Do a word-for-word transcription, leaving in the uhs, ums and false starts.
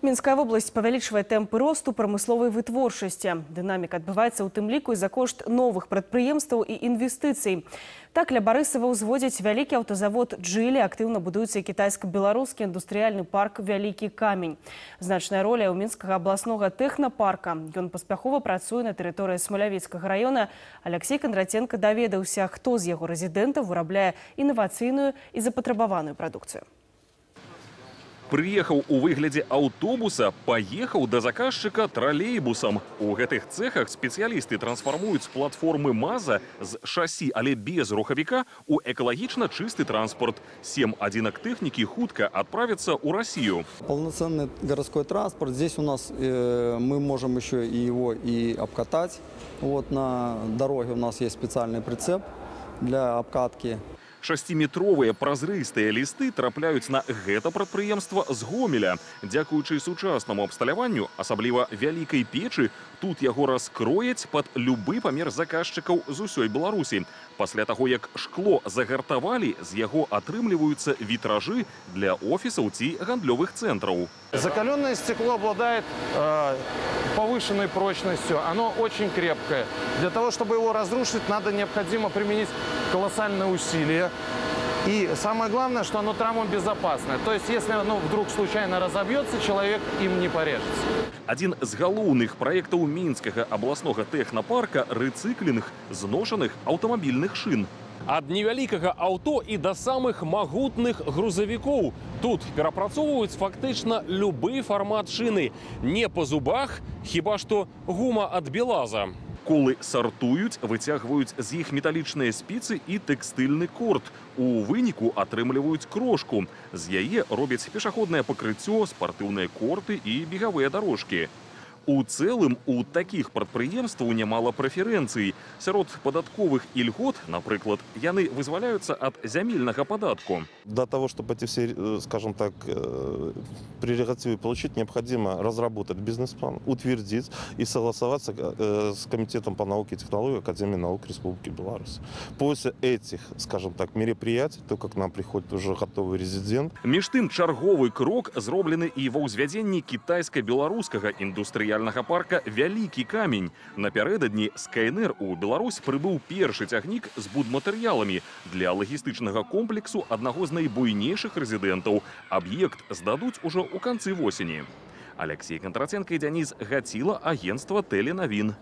Мінская вобласць павялічвае тэмпы росту прамысловай вытворчасці. Дынаміка адбываецца ў тым ліку і за кошт новых прадпрыемстваў і інвестыцый. Так, ля Барысава ўзводзяць вялікі аўтазавод «Джили», актыўна будуецца кітайска-беларускі індустрыяльны парк «Вялікі камень». Значная роля ў мінскага абласнога тэхнапарка. Ён паспяхова працуе на тэрыторыі Смалявіцкага раёна. Алексей Кондратенко даведаўся, хто з яго рэзідэнтаў вырабляе інавацыйную і запатрабаваную прадукцыю. Прыехаў у выглядзе аўтобуса, паехаў да заказчыка тралейбусам. У гэтых цэхах спецыялісты трансфармуюць платформы МАЗа з шасі, але без рухавіка у экалагічна чысты транспорт. Сем адзінак тэхнікі хутка отправятся ў Россию. Полноценный городской транспорт. Здесь у нас э, мы можем еще и его и обкатать. Вот на дороге у нас есть специальный прицеп для обкатки. Шасціметровыя празрыстыя лісты трапляюць на гэта прадпрыемства з Гомеля. Дзякуючы сучаснаму абсталяванню, асабліва вялікай печы, тут яго раскрояць пад любы памер заказчыкаў з усёй Беларусі. Пасля таго, як шкло загартавалі, з яго атрымліваюцца вітражы для офісаў ці гандлёвых цэнтраў. Закаленное стекло обладает э, повышенной прочностью, оно очень крепкое. Для того, чтобы его разрушить, надо необходимо применить колоссальные усилия. И самое главное, что оно травмобезопасное. То есть, если оно вдруг случайно разобьется, человек им не порежется. Один з галоўных праектаў мінскага абласнога тэхнапарка – рэцыклінг зношаных аўтамабільных шын. Ад невялікага аўто і да самых магутных грузавікоў. Тут перапрацоўваюць фактычна любы фармат шыны. Не па зубах, хіба што гума ад белаза. Колы сартуюць, выцягваюць з іх металічныя спіцы і тэкстыльны корд. У выніку атрымліваюць крошку. З яе робяць пешаходнае пакрыццё, спартыўныя корты і бегавыя дарожкі. У цэлым, у такіх прадпрыемстваў нямала прэферэнцый. Сярод падатковых ільгот, напрыклад, яны вызваляюцца ад зямельнага падатку. Для того, чтобы эти все, скажем так, прерогативы получить, необходимо разработать бизнес-план, утвердить и согласоваться с Комитетом по науке и технологии Академии наук Республики Беларусь. После этих, скажем так, мероприятий, то, как к нам приходит уже готовый резидент. Між тым, чарговы крок зроблены і ва ўзвядзенні кітайска-беларускага індустрыяльнага парка «Вялікі камень». Напярэдадні з КНР у Беларусь прыбыў першы цягнік з будматэрыяламі для лагістычнага комплексу аднаго з найбуйнейшых рэзідэнтаў. Аб'ект здадуць ужо ў канцы восені. Алексей Кондратенко і Дзяніс Гаціла, агентства Тэленавін.